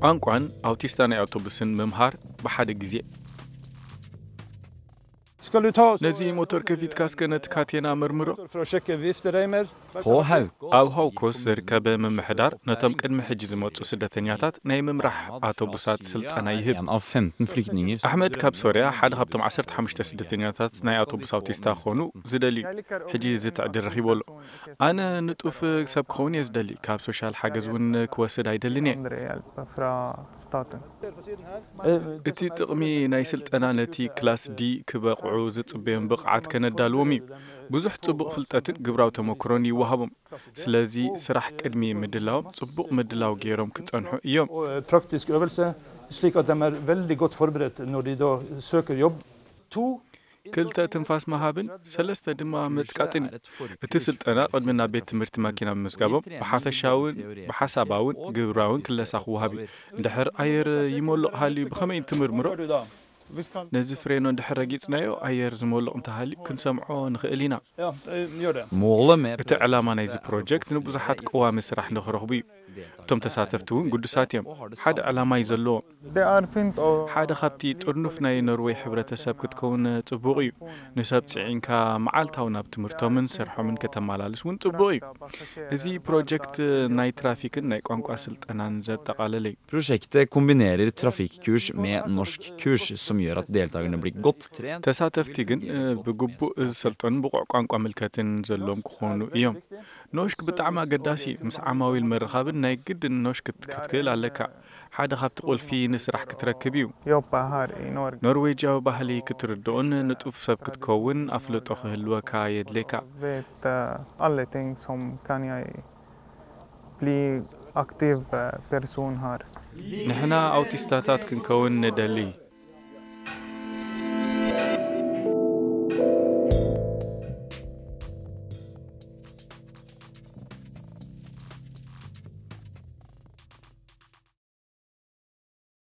ቋንቋን ኣውቲስታ ናይ ኣውቶቡስን ምምሃር ብሓደ ግዜ። Skal du ta og ነዚ ሞተር ከፊትካ እስከ ነቲ ካቴና መርምሮ። for å sjekke viftereimer? På Haukås ኣብ ሃውኮስ ዝርከበ ምምሕዳር ነቶም ቅድሚ ሕጂ ዝመጹ ስደተኛታት ናይ ምምራሕ ኣውቶቡሳት ስልጠና ይህብ። En av femten flyktninger. ኣሕመድ ካብ ሶርያ ሓደ ካብቶም ዓሰርተ ሓሙሽተ ስደተኛታት ናይ ኣውቶቡስ ኣውቲስታ ክኾኑ ዝደልዩ ሕጂ እዚ ትዕድል ረኺቡ ኣሎ። ኣነ ንጡፍ ሰብ ክኸውን እየ ዝደሊ። ካብ ሶሻል ሓገዝ እውን ክወስድ ኣይደልን እየ። Andre hjelp fra staten. እቲ ጥቕሚ ናይ ስልጠና ነቲ ክላስ ዲ ክበቕዑ ዝጽበዮም ብቕዓት ከነዳልዎም እዩ። ብዙሕ ጽቡቕ ፍልጠትን ግብራዊ ተመክሮን ይወሃቦም። ስለዚ ስራሕ ቅድሚ ምድላዎም ጽቡቕ ምድላው ገይሮም ክጸንሑ እዮም። Og eh, praktisk øvelse, slik at de er veldig godt forberedt når de da søker jobb. To, ክልተ ትንፋስ ምሃብን ሰለስተ ድማ መጽቃጥን እዩ። እቲ ስልጠና ቅድሚ ናብ ቤት ትምህርቲ ማኪና ምምዝጋቦም ብሓፈሻውን ብሓሳባውን ግብራውን ክለሳ ክወሃብ እዩ። እንድሕር ኣየር ይመልቕ ሃልዩ ብኸመይ እንትምርምሮ? ነዚ ፍሬኖ እንድሕር ረጊጽናዮ ኣየር ዝመልቕ እንተሃልዩ ክንሰምዖ ንኽእል ኢና። Ja, eh, gjør det. Målet med እቲ ዕላማ ናይዚ ፕሮጀክት ንብዙሓት ቀዋሚ ስራሕ ንኽረኽቡ እዩ። እቶም ተሳተፍቲ እውን ግዱሳት እዮም። ሓደ ዕላማ እዩ ዘለዎም። Det er fint å ሓደ ካብቲ ጥርኑፍ ናይ ኖርዌይ ሕብረተሰብ ክትከውን ጽቡቕ እዩ። ንሰብ ጽዒንካ መዓልታዊ ናብ ትምህርቶምን ስርሖምን ከተመላልስ እውን ጽቡቕ እዩ። እዚ ፕሮጀክት ናይ ትራፊክን ናይ ቋንቋ ስልጠናን ዘጠቓለለ እዩ። Prosjektet kombinerer trafikkurs med norskkurs, som gjør at deltakerne blir godt trent. ተሳተፍቲ ግን እ፣ ብግቡእ ዝሰልጠኑን ብቑዕ ቋንቋ ምልከትን ዘለዎም ክኾኑ እዮም። ኖሽክ ብጣዕሚ ኣገዳሲ እዩ። ምስ ዓማዊል ምርኻብን ናይ ግድን ኖሽክ ክትክእል ኣለካ። ሓደ ካብቲ ቁልፊ ንስራሕ ክትረክብ እዩ። jobbe her i Norge. ኖርዌጃዊ ባህሊ ክትርድኦን ንጡፍ ሰብ ክትከውን ኣፍልጦ ክህልወካ የድልየካ። Vet eh, alle ting som kan jeg bli aktiv eh, person her. ንሕና ኣውቲስታታት ክንከውን ንደሊ።